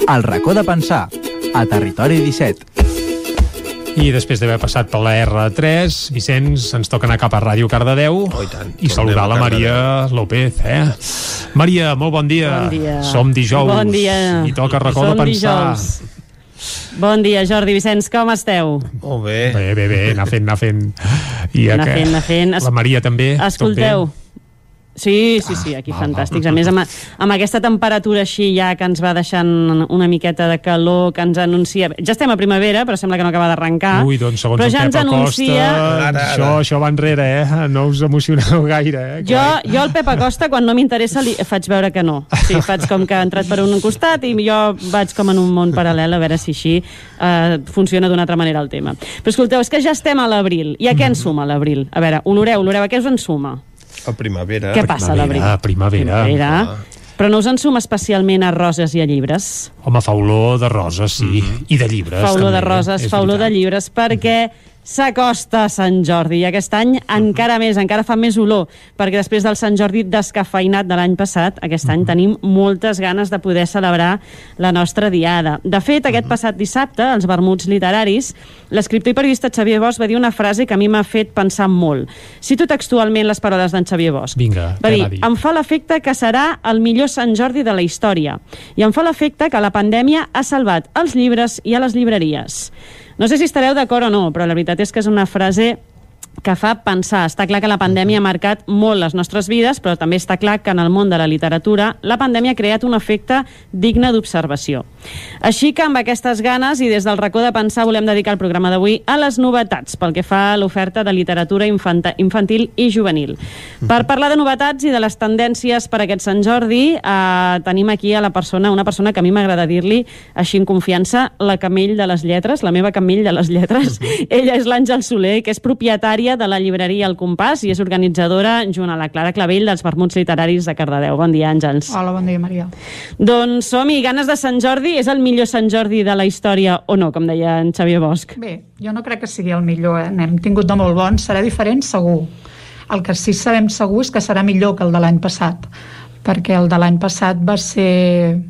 El racó de pensar, a Territori 17. I després d'haver passat per la R3, Vicenç, ens toca anar cap a Ràdio Cardedeu i saludar la Maria López. Maria, molt bon dia. Bon dia. Som dijous. Bon dia. I toca racó de pensar. Bon dia, Jordi, Vicenç, com esteu? Molt bé. Bé, anar fent. I anar fent. La Maria també. Escolteu. Sí, aquí fantàstics. A més, amb aquesta temperatura així ja que ens va deixant una miqueta de calor, que ens anuncia... Ja estem a primavera, però sembla que no acaba d'arrencar. Ui, doncs segons però el ja Pep Acosta, Ara. això va enrere, no us emocioneu gaire. Jo al Pep Acosta, quan no m'interessa, li faig veure que no. Sí, faig com que ha entrat per un costat i jo vaig com en un món paral·lel, a veure si així funciona d'una altra manera el tema. Però escolteu, és que ja estem a l'abril. I a què ens suma l'abril? A veure, oloreu, a què us en suma? A primavera. Què passa a l'abril? Primavera. Però no us en suma especialment a roses i a llibres? Home, fa olor de roses, sí. I de llibres. Fa olor també, de roses, fa olor de llibres, perquè s'acosta Sant Jordi i aquest any encara fa més olor, perquè després del Sant Jordi descafeïnat de l'any passat, aquest any tenim moltes ganes de poder celebrar la nostra diada. De fet, aquest passat dissabte, als vermuts literaris, l'escriptor i periodista Xavier Bosch va dir una frase que a mi m'ha fet pensar molt. Cito textualment les paraules d'en Xavier Bosch. Vinga, va dir, em fa l'efecte que serà el millor Sant Jordi de la història i em fa l'efecte que la pandèmia ha salvat els llibres i a les llibreries. No sé si estareu d'acord o no, però la veritat és que és una frase que fa pensar. Està clar que la pandèmia ha marcat molt les nostres vides, però també està clar que en el món de la literatura la pandèmia ha creat un efecte digne d'observació. Així que amb aquestes ganes i des del racó de pensar volem dedicar el programa d'avui a les novetats pel que fa a l'oferta de literatura infantil i juvenil. Per parlar de novetats i de les tendències per a aquest Sant Jordi, tenim aquí a una persona que a mi m'agrada dir-li així en confiança, la Camell de les lletres, la meva Camell de les lletres. Ella és l'Àngel Soler, que és propietària de la llibreria El Compàs i és organitzadora, junt a la Clara Clavell, dels vermuts literaris de Cardedeu. Bon dia, Àngels. Hola, bon dia, Maria. Doncs som-hi, ganes de Sant Jordi. És el millor Sant Jordi de la història o no, com deia en Xavier Bosch? Bé, jo no crec que sigui el millor, N'hem tingut de molt bons. Serà diferent, segur. El que sí sabem segur és que serà millor que el de l'any passat, perquè el de l'any passat va ser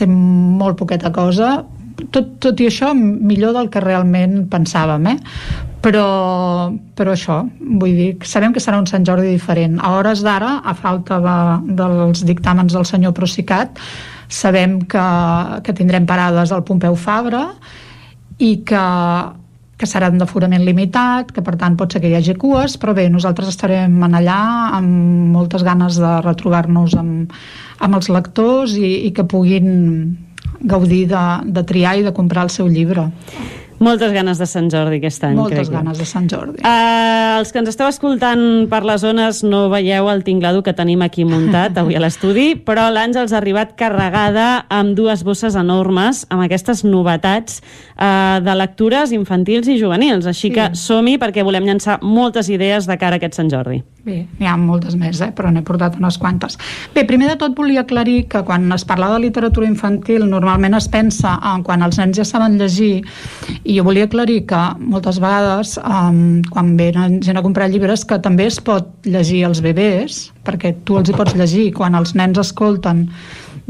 molt poqueta cosa, tot i això millor del que realment pensàvem, però això, vull dir, sabem que serà un Sant Jordi diferent. A hores d'ara, a falta dels dictàmens del senyor Procicat, sabem que tindrem parades al Pompeu Fabra i que seran d'aforament limitat, que per tant pot ser que hi hagi cues, però bé, nosaltres estarem allà amb moltes ganes de retrobar-nos amb els lectors i que puguin gaudir de triar i de comprar el seu llibre. Moltes ganes de Sant Jordi aquest any. Moltes ganes de Sant Jordi. Els que ens esteu escoltant per les zones no veieu el tinglado que tenim aquí muntat avui a l'estudi, però l'Àngels ha arribat carregada amb dues bosses enormes, amb aquestes novetats de lectures infantils i juvenils. Així que som-hi perquè volem llançar moltes idees de cara a aquest Sant Jordi. Bé, n'hi ha moltes més, però n'he portat unes quantes. Bé, primer de tot volia aclarir que quan es parla de literatura infantil normalment es pensa en quan els nens ja saben llegir, i jo volia aclarir que moltes vegades quan venen gent a comprar llibres que també es pot llegir als bebès, perquè tu els hi pots llegir, quan els nens escolten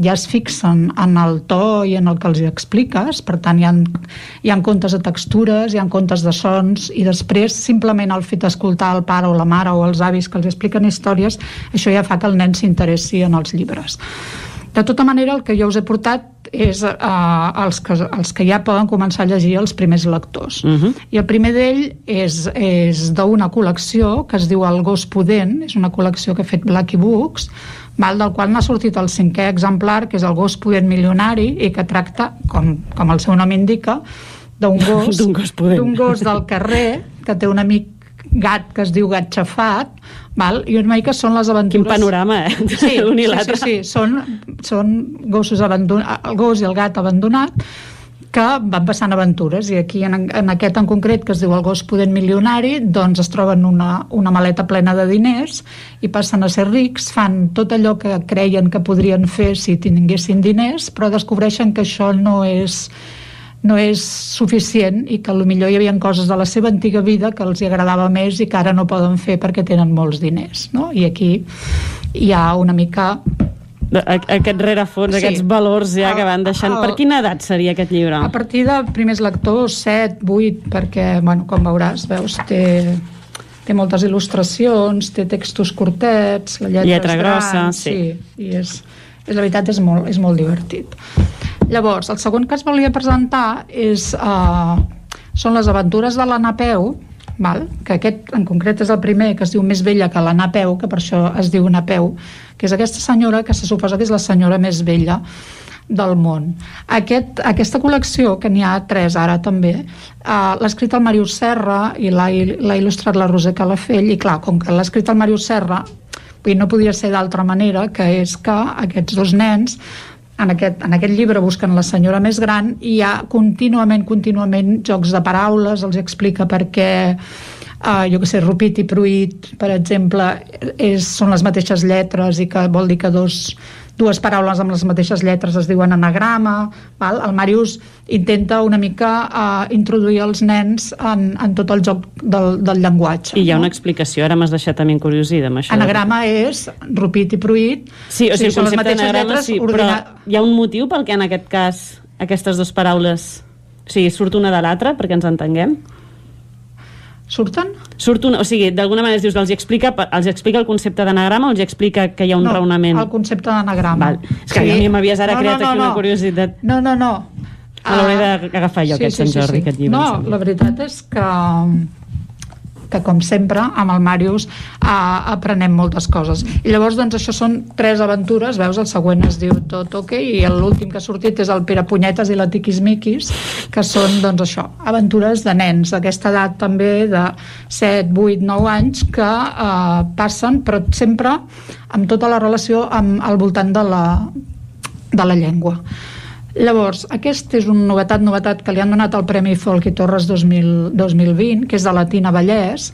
ja es fixen en el to i en el que els hi expliques, per tant hi ha comptes de textures, hi ha comptes de sons, i després simplement el fet d'escoltar el pare o la mare o els avis que els expliquen històries, això ja fa que el nen s'interessi en els llibres. De tota manera, el que jo us he portat és els que ja poden començar a llegir els primers lectors. I el primer d'ell és d'una col·lecció que es diu El gos pudent, és una col·lecció que ha fet Blackie Books, del qual n'ha sortit el 5è exemplar, que és El gos pudent milionari, i que tracta, com el seu nom indica, d'un gos del carrer que té un amic gat que es diu Gat Xafat, i una mica són les aventures... Quin panorama, Sí, l'un i l'altre. Sí, són gossos abandonats, el gos i el gat abandonat, que van passant aventures, i aquí en aquest en concret, que es diu El gos pudent milionari, doncs es troben una maleta plena de diners i passen a ser rics, fan tot allò que creien que podrien fer si tinguessin diners, però descobreixen que això no és suficient i que potser hi havia coses de la seva antiga vida que els agradava més i que ara no poden fer perquè tenen molts diners, no? I aquí hi ha una mica Aquest rerefons, aquests valors ja que van deixant. Per quina edat seria aquest llibre? A partir de primers lectors, 7, 8, perquè, bueno, com veuràs, veus, té moltes il·lustracions, té textos curtets, la lletra grossa, gran, sí. I la veritat és molt divertit. Llavors, el segon que es volia presentar són les aventures de la Napeu, que aquest en concret és el primer, que es diu Més vella que la Napeu, que per això es diu Napeu, que és aquesta senyora que se suposa que és la senyora més vella del món. Aquesta col·lecció, que n'hi ha 3 ara també, l'ha escrit el Màrius Serra i l'ha il·lustrat la Roser Calafell, i clar, com que l'ha escrit el Màrius Serra, no podia ser d'altra manera, que és que aquests 2 nens en aquest llibre busquen la senyora més gran i hi ha contínuament jocs de paraules, els explica per què jo que sé, Rupit i Pruit, per exemple, són les mateixes lletres i que vol dir que dues paraules amb les mateixes lletres es diuen anagrama. El Màrius intenta una mica introduir els nens en tot el joc del llenguatge. I hi ha una explicació, ara m'has deixat també encuriosida amb això. Anagrama és Rupit i Pruit. Sí, o sigui, el concepte d'anagrama sí, però hi ha un motiu pel que en aquest cas aquestes 2 paraules, o sigui, surt una de l'altra perquè ens entenguem? Surten? O sigui, d'alguna manera es dius, els explica el concepte d'anagrama o els explica que hi ha un raonament? No, el concepte d'anagrama. És que a mi m'havies ara creat aquí una curiositat. No. Me l'hauré d'agafar jo, aquest Sant Jordi, aquest llibre. No, la veritat és que com sempre, amb el Màrius aprenem moltes coses. I llavors, doncs, això són 3 aventures, veus, el següent es diu Tot OK, i l'últim que ha sortit és el Pere Punyetes i la Tiquismiquis, que són, doncs, això, aventures de nens d'aquesta edat també de 7, 8, 9 anys que passen, però sempre amb tota la relació al voltant de la llengua. Llavors, aquest és un novetat que li han donat el Premi Folk i Torres 2020, que és de la Tina Vallès,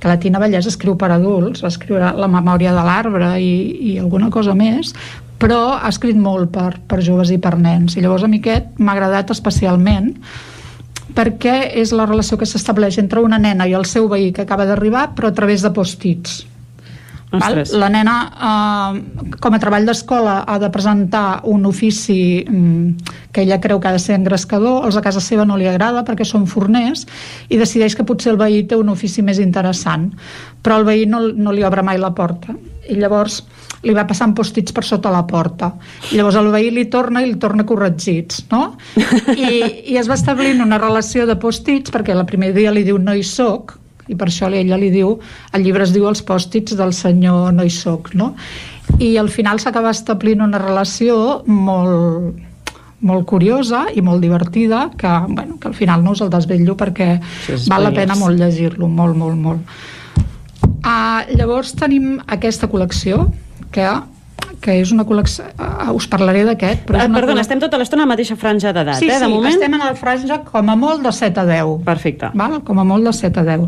que la Tina Vallès escriu per adults, va escriure La memòria de l'arbre i alguna cosa més, però ha escrit molt per joves i per nens, i llavors a mi aquest m'ha agradat especialment perquè és la relació que s'estableix entre una nena i el seu veí que acaba d'arribar, però a través de post-its. La nena, com a treball d'escola, ha de presentar un ofici que ella creu que ha de ser engrescador, els a casa seva no li agrada perquè són forners, i decideix que potser el veí té un ofici més interessant, però el veí no li obre mai la porta, i llavors li va passant post-its per sota la porta, i llavors el veí li torna corregits, no? I es va establint una relació de post-its, perquè el primer dia li diu no hi soc, i per això ella li diu, el llibre es diu Els pòstits del senyor no hi soc, no? I al final s'acaba establint una relació molt curiosa i molt divertida que al final no us el desvetllo perquè val la pena molt llegir-lo, molt. Llavors tenim aquesta col·lecció que és una col·lecció, us parlaré d'aquest. Perdona, estem tota l'estona a la mateixa franja d'edat, de moment? Sí, estem en la franja com a molt de 7 a 10. Perfecte. Com a molt de 7 a 10.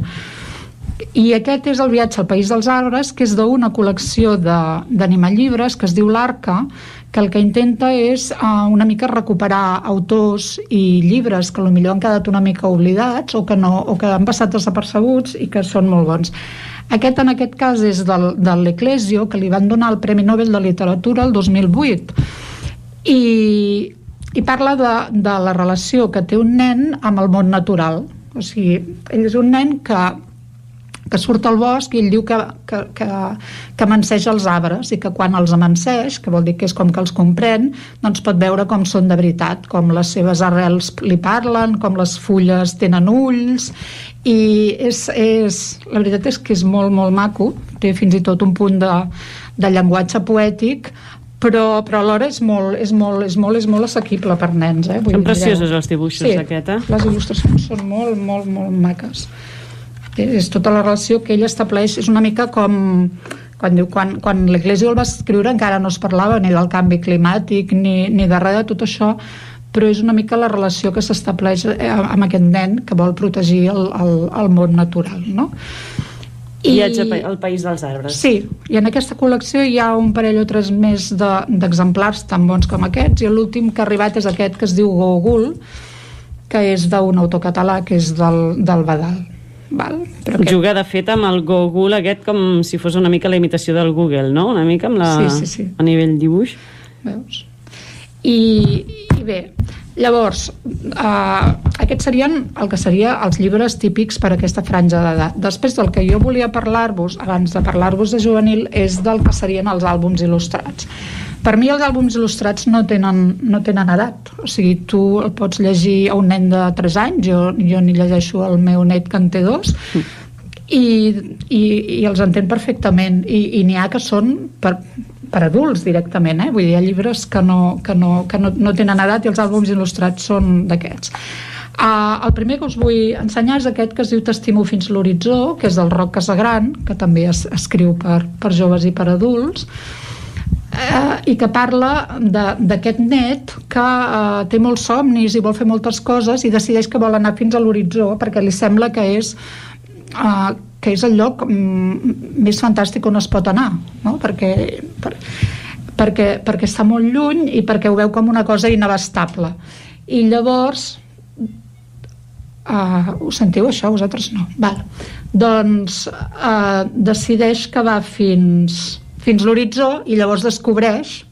I aquest és El viatge al país dels arbres, que és d'una col·lecció d'animallibres que es diu L'Arca, que el que intenta és una mica recuperar autors i llibres que potser han quedat una mica oblidats o que han passat desapercebuts i que són molt bons. Aquest, en aquest cas, és de l'Eclésio, que li van donar el Premi Nobel de Literatura el 2008. I parla de la relació que té un nen amb el món natural. O sigui, ell és un nen que surt al bosc i ell diu que amanseix els arbres i que quan els amanseix, que vol dir que és com que els comprèn, doncs pot veure com són de veritat, com les seves arrels li parlen, com les fulles tenen ulls, i la veritat és que és molt, molt maco, té fins i tot un punt de llenguatge poètic, però alhora és molt assequible per nens. Són preciosos els dibuixos d'aquest, les il·lustracions són molt, molt, molt maques. És tota la relació que ell estableix, és una mica com quan l'Eclésio el va escriure encara no es parlava ni del canvi climàtic ni de res de tot això, però és una mica la relació que s'estableix amb aquest nen que vol protegir el món natural, no? Viatge al país dels arbres. Sí, i en aquesta col·lecció hi ha un parell o 3 més d'exemplars tan bons com aquests, i l'últim que ha arribat és aquest que es diu Gogul, que és d'un autor català que és del Badal. Val? Però juga de fet amb el Google aquest com si fos una mica la imitació del Google, no? Una mica amb la... Sí. A nivell dibuix. Veus? I bé, llavors aquests serien el que seria els llibres típics per a aquesta franja d'edat. Després del que jo volia parlar-vos, abans de parlar-vos de juvenil, és del que serien els àlbums il·lustrats. Per mi els àlbums il·lustrats no tenen edat, o sigui, tu el pots llegir a un nen de 3 anys, jo n'hi llegeixo al meu net que en té 2, i els entén perfectament, i n'hi ha que són per adults directament, vull dir, hi ha llibres que no tenen edat i els àlbums il·lustrats són d'aquests. El primer que us vull ensenyar és aquest que es diu T'estimo fins l'horitzó, que és del Roc Casagran, que també es escriu per joves i per adults, i que parla d'aquest net que té molts somnis i vol fer moltes coses i decideix que vol anar fins a l'horitzó perquè li sembla que és el lloc més fantàstic on es pot anar, no? perquè està molt lluny i perquè ho veu com una cosa inabastable. I llavors ho sentiu això? Vosaltres no? Val. Doncs decideix que va fins l'horitzó i llavors descobreix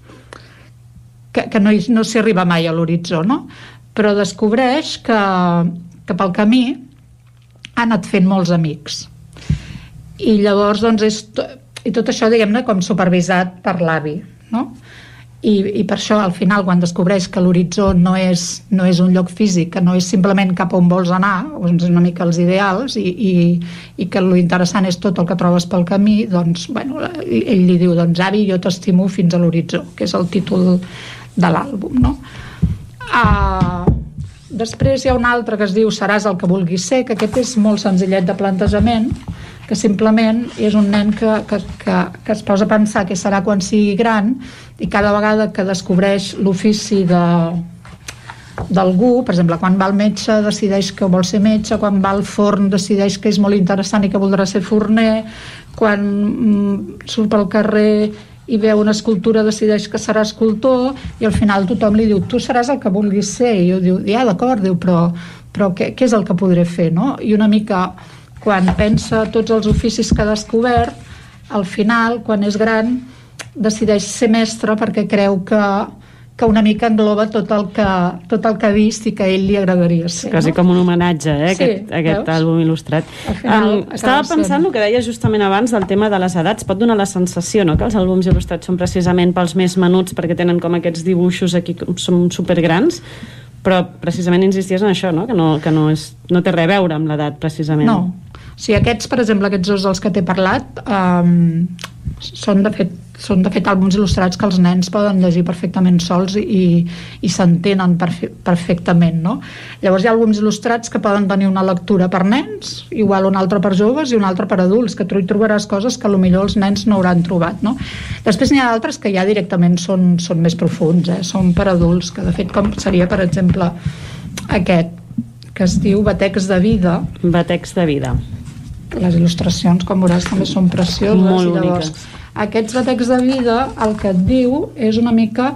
que no s'hi arriba mai a l'horitzó, no? Però descobreix que pel camí ha anat fent molts amics. I llavors, doncs, i tot això, diguem-ne, com supervisat per l'avi, no? I per això, al final, quan descobreix que l'horitzó no és un lloc físic, que no és simplement cap on vols anar, és una mica els ideals, i que l'interessant és tot el que trobes pel camí, doncs, bueno, ell li diu, doncs, avi, jo t'estimo fins a l'horitzó, que és el títol de l'àlbum, no? Després hi ha un altre que es diu Seràs el que vulguis ser, que aquest és molt senzillet de plantejament, que simplement és un nen que es posa a pensar què serà quan sigui gran, i cada vegada que descobreix l'ofici d'algú, per exemple, quan va al metge decideix que vol ser metge, quan va al forn decideix que és molt interessant i que voldrà ser forner, quan surt pel carrer i veu una escultura decideix que serà escultor, i al final tothom li diu, tu seràs el que vulguis ser, i jo diu, ja d'acord, diu, però què és el que podré fer, no? I una mica quan pensa tots els oficis que ha descobert, al final, quan és gran, decideix ser mestre perquè creu que una mica engloba tot el que ha vist i que a ell li agradaria ser. Quasi com un homenatge, sí, aquest àlbum il·lustrat. Estava pensant el que deia justament abans del tema de les edats. Pot donar la sensació, no?, que els àlbums il·lustrats són precisament pels més menuts perquè tenen com aquests dibuixos aquí que són supergrans, però precisament insisties en això, no?, que no té res a veure amb l'edat, precisament. No. Sí, aquests, per exemple, aquests dos dels que t'he parlat, són de fet àlbums il·lustrats que els nens poden llegir perfectament sols i s'entenen perfectament, no? Llavors hi ha àlbums il·lustrats que poden tenir una lectura per nens, igual un altre per joves i un altre per adults, que tu hi trobaràs coses que potser els nens no hauran trobat, no? Després n'hi ha d'altres que ja directament són més profuns, són per adults, que de fet com seria, per exemple, aquest, que es diu Batecs de vida. Batecs de vida. Les il·lustracions, com veuràs, també són precioses. Molt i llavors, boniques. Aquests batecs de vida, el que et diu és una mica,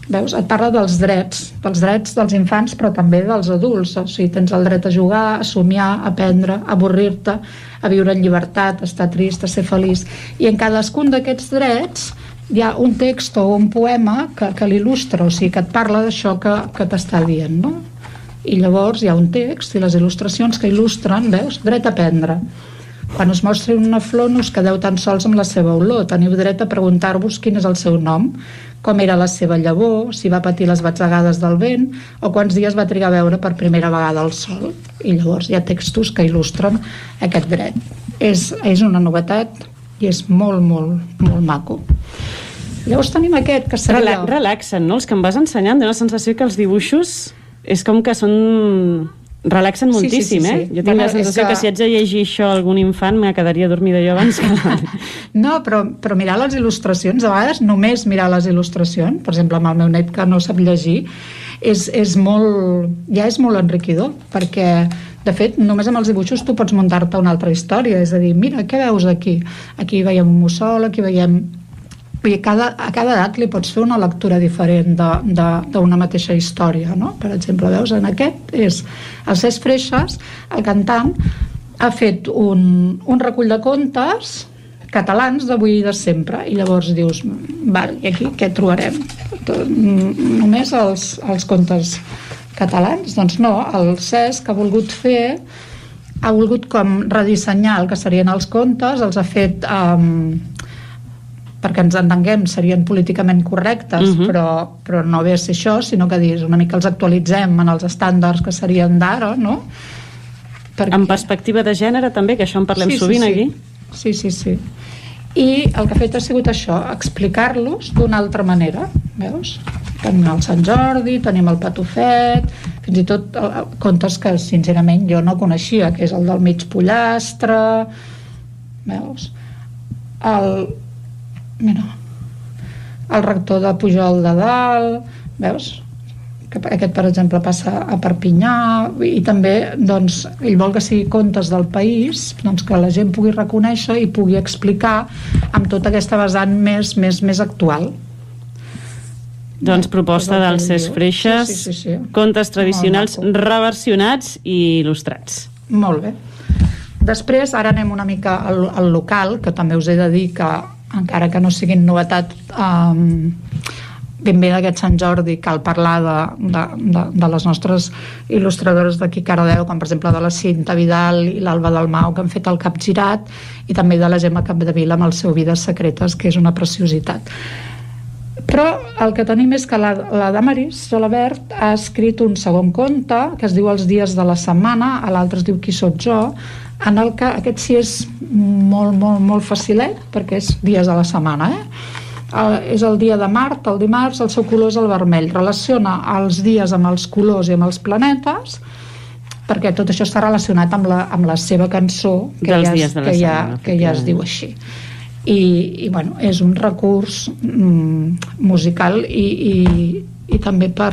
veus, et parla dels drets dels infants, però també dels adults. O sigui, tens el dret a jugar, a somiar, a aprendre, a avorrir-te, a viure en llibertat, a estar trist, a ser feliç. I en cadascun d'aquests drets hi ha un text o un poema que l'il·lustra, o sigui, que et parla d'això que t'està dient, no? I llavors hi ha un text i les il·lustracions que il·lustren, veus, dret a aprendre. Quan us mostri una flor no us quedeu tan sols amb la seva olor, teniu dret a preguntar-vos quin és el seu nom, com era la seva llavor, si va patir les batzegades del vent o quants dies va trigar a veure per primera vegada el sol. I llavors hi ha textos que il·lustren aquest dret. És una novetat i és molt, molt, molt maco. Llavors tenim aquest que seria... Relaxen, no? Els que em vas ensenyant, té una sensació que els dibuixos és com que relaxen moltíssim, sí. Jo tinc la sensació que si haig de llegir això a algun infant me quedaria dormida jo abans que... No, però mirar les il·lustracions, a vegades només mirar les il·lustracions, per exemple amb el meu net que no sap llegir, és molt enriquidor, perquè de fet només amb els dibuixos tu pots muntar-te una altra història, és a dir, mira, què veus aquí? Aquí veiem un mussol, aquí veiem... A cada edat li pots fer una lectura diferent d'una mateixa història, no? Per exemple, veus, en aquest és el Cesc Freixas, el cantant, ha fet un recull de contes catalans d'avui i de sempre, i llavors dius, val, i aquí què trobarem? Només els contes catalans? Doncs no, el Cesc ha volgut com redissenyar el que serien els contes, els ha fet perquè ens entenguem, serien políticament correctes, però no ve a ser això, sinó que una mica els actualitzem en els estàndards que serien d'ara, no? En perspectiva de gènere també, que això en parlem sovint aquí. Sí. I el que ha fet ha sigut això, explicar-los d'una altra manera, veus? Tenim el Sant Jordi, tenim el Patufet, fins i tot contes que sincerament jo no coneixia, que és el del mig pollastre, veus? El rector de Pujol de Dalt, veus? Aquest, per exemple, passa a Perpinyà, i també, doncs, ell vol que sigui contes del país, doncs que la gent pugui reconèixer i pugui explicar amb tota aquesta vessant més actual. Doncs proposta del Cesc Freixas, sí. Contes tradicionals reversionats i il·lustrats. Molt bé. Després, ara anem una mica al local, que també us he de dir que, encara que no siguin novetat, ben bé d'aquest Sant Jordi, cal parlar de les nostres il·lustradores d'aquí Cardedeu, com per exemple de la Cinta Vidal i l'Alba Dalmau, que han fet el Capgirat, i també de la Gemma Capdevila amb el seu Vides secretes, que és una preciositat. Però el que tenim és que la Damaris Gelabert ha escrit un segon conte que es diu Els dies de la setmana, l'altre es diu Qui sóc jo, en el que aquest sí és molt facilet, perquè és dies de la setmana, és el dia de Mart, el dimarts, el seu color és el vermell. Relaciona els dies amb els colors i amb els planetes, perquè tot això està relacionat amb la seva cançó, que ja es diu així. I bueno, és un recurs musical i també per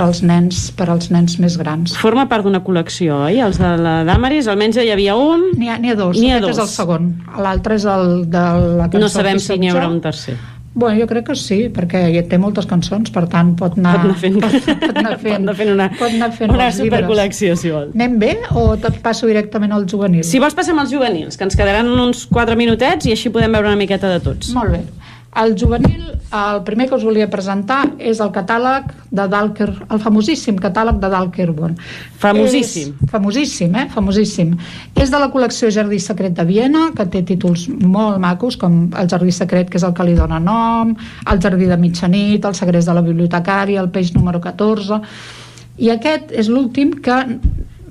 als nens més grans. Forma part d'una col·lecció, oi? Els de la Damaris, almenys hi havia un... N'hi ha dos, aquest és el segon. L'altre és el de la cançó. No sabem si n'hi haurà un tercer. Bueno, jo crec que sí, perquè té moltes cançons, per tant pot anar fent una supercol·lecció, si vol. Anem bé o et passo directament als juvenils? Si vols passem als juvenils, que ens quedaran uns 4 minutets i així podem veure una miqueta de tots. Molt bé. El juvenil, el primer que us volia presentar és el catàleg de Dalker, el famosíssim catàleg de Dalkerborn. Famosíssim. Famosíssim. És de la col·lecció Jardí Secret de Viena, que té títols molt macos, com el Jardí Secret, que és el que li dona nom, el Jardí de mitjanit, el Segrest de la bibliotecària, el Peix número 14... I aquest és l'últim, que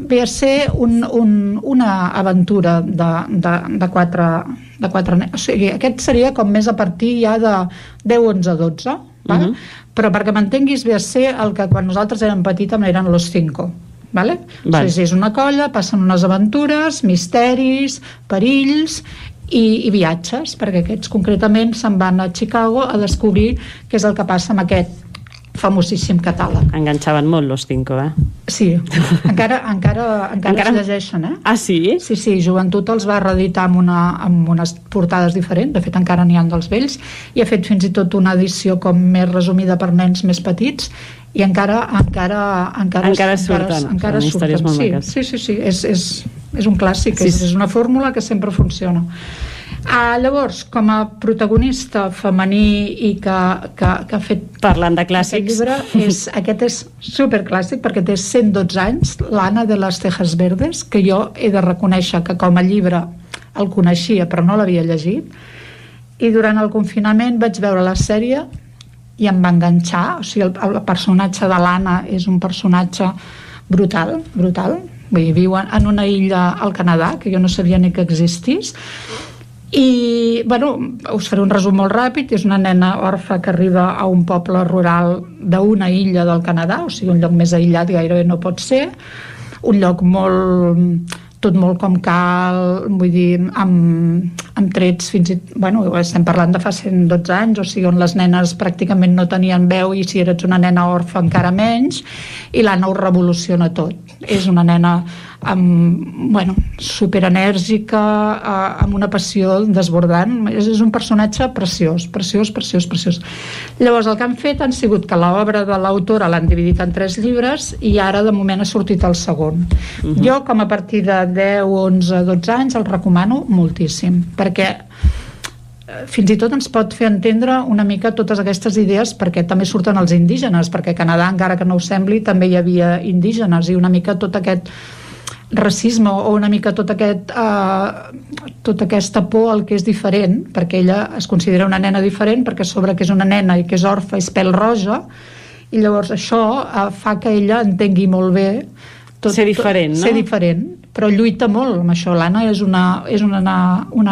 ve a ser una aventura de quatre nens. O sigui, aquest seria com més a partir ja de 10, 11, 12, val? Però perquè m'entenguis, ve a ser el que quan nosaltres érem petits eren los 5, vale? O sigui, és una colla, passen unes aventures, misteris, perills i viatges, perquè aquests concretament se'n van a Chicago a descobrir què és el que passa amb aquest famosíssim catàleg. Enganxaven molt los 5, Sí, encara es llegeixen, Ah, sí? Sí, Joventut els va reeditar amb unes portades diferents, de fet encara n'hi ha dels vells, i ha fet fins i tot una edició com més resumida per nens més petits, i encara surten. Històries molt maques. Sí, és un clàssic, és una fórmula que sempre funciona. Llavors, com a protagonista femení i que ha fet... Parlant de clàssics... Aquest és superclàssic perquè té 112 anys, l'Anna de les Tejas Verdes, que jo he de reconèixer que com a llibre el coneixia però no l'havia llegit, i durant el confinament vaig veure la sèrie i em va enganxar. O sigui, el personatge de l'Anna és un personatge brutal. Vull dir, viu en una illa al Canadà que jo no sabia ni que existís. I, bueno, us faré un resum molt ràpid. És una nena orfa que arriba a un poble rural d'una illa del Canadà, o sigui, un lloc més aïllat gairebé no pot ser, un lloc tot molt com cal, vull dir, amb trets fins i... Bueno, estem parlant de fa 112 anys, o sigui, on les nenes pràcticament no tenien veu i si eres una nena orfa encara menys, i l'Anna ho revoluciona tot. És una nena superenèrgica, amb una passió desbordant. És un personatge preciós. Llavors el que han fet han sigut que l'obra de l'autora l'han dividit en 3 llibres i ara de moment ha sortit el segon. Jo, com a partir de 10, 11, 12 anys, el recomano moltíssim, perquè fins i tot ens pot fer entendre una mica totes aquestes idees, perquè també surten els indígenes, perquè a Canadà, encara que no ho sembli, també hi havia indígenes, i una mica tot aquest racisme o una mica tota aquesta por al que és diferent, perquè ella es considera una nena diferent perquè a sobre que és una nena i que és orfa és pèl roja, i llavors això fa que ella entengui molt bé ser diferent, no? Ser diferent, però lluita molt amb això. L'Anna és una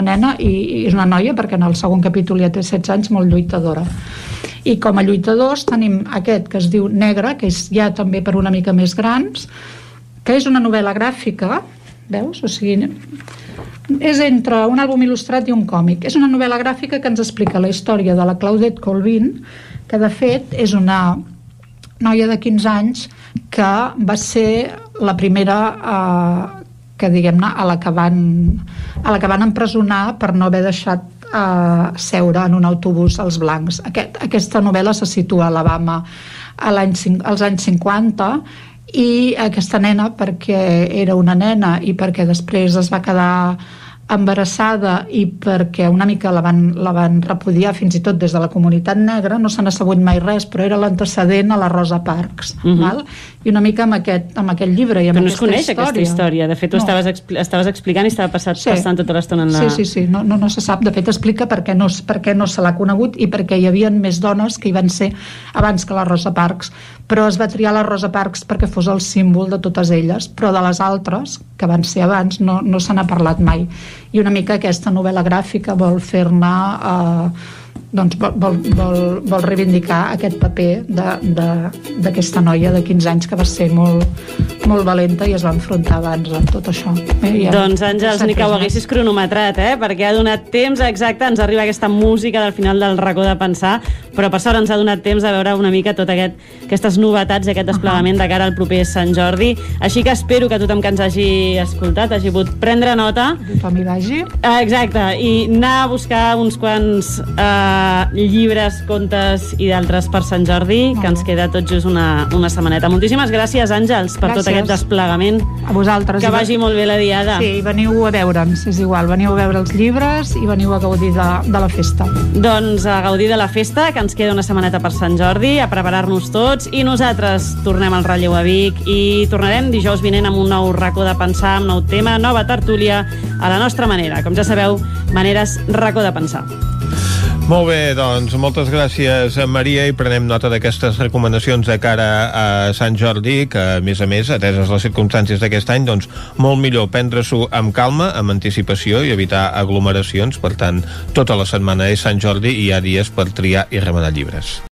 nena i és una noia, perquè en el segon capítol ja té 16 anys, molt lluitadora. I com a lluitadors tenim aquest que es diu Negre, que és ja també per una mica més grans, que és una novel·la gràfica, veus? O sigui, és entre un àlbum il·lustrat i un còmic. És una novel·la gràfica que ens explica la història de la Claudette Colvin, que de fet és una noia de 15 anys que va ser la primera que, diguem-ne, a la que van empresonar per no haver deixat seure en un autobús als blancs. Aquesta novel·la se situa a Alabama als anys 50, i aquesta nena, perquè era una nena i perquè després es va quedar embarassada i perquè una mica la van repudiar fins i tot des de la comunitat negra, no se n'ha sabut mai res, però era l'antecedent a la Rosa Parks, val? I una mica amb aquest llibre i amb però no aquesta es coneix aquesta història, de fet ho estaves explicant i estava passant tota l'estona en la... Sí, no se sap, de fet explica per què no se l'ha conegut i perquè hi havia més dones que hi van ser abans que la Rosa Parks, però es va triar la Rosa Parks perquè fos el símbol de totes elles, però de les altres que van ser abans no se n'ha parlat mai. I una mica aquesta novel·la gràfica vol fer-ne vol reivindicar aquest paper d'aquesta noia de 15 anys que va ser molt valenta i es va enfrontar abans a tot això. Doncs Àngels, ni que ho haguessis cronometrat, perquè ha donat temps exacte, ens arriba aquesta música del final del racó de pensar, però per sort ens ha donat temps de veure una mica tot aquestes novetats i aquest desplegament de cara al proper Sant Jordi, així que espero que tothom que ens hagi escoltat hagi pogut prendre nota. Tothom hi vagi. Exacte, i anar a buscar uns quants llibres, contes i d'altres per Sant Jordi, que ens queda tot just una setmaneta. Moltíssimes gràcies, Àngels, per tot aquest desplegament. A vosaltres. Que vagi molt bé la diada. Sí, veniu a veure'ns, és igual, veniu a veure els llibres i veniu a gaudir de la festa. Doncs a gaudir de la festa, que ens queda una setmaneta per Sant Jordi, a preparar-nos tots, i nosaltres tornem al Relleu a Vic i tornarem dijous vinent amb un nou racó de pensar, amb nou tema, nova tertúlia, a la nostra manera. Com ja sabeu, Maneres Racó de Pensar. Molt bé, doncs moltes gràcies, Maria, i prenem nota d'aquestes recomanacions de cara a Sant Jordi, que a més, ateses les circumstàncies d'aquest any, doncs molt millor prendre-s'ho amb calma, amb anticipació i evitar aglomeracions. Per tant, tota la setmana és Sant Jordi i hi ha dies per triar i remenar llibres.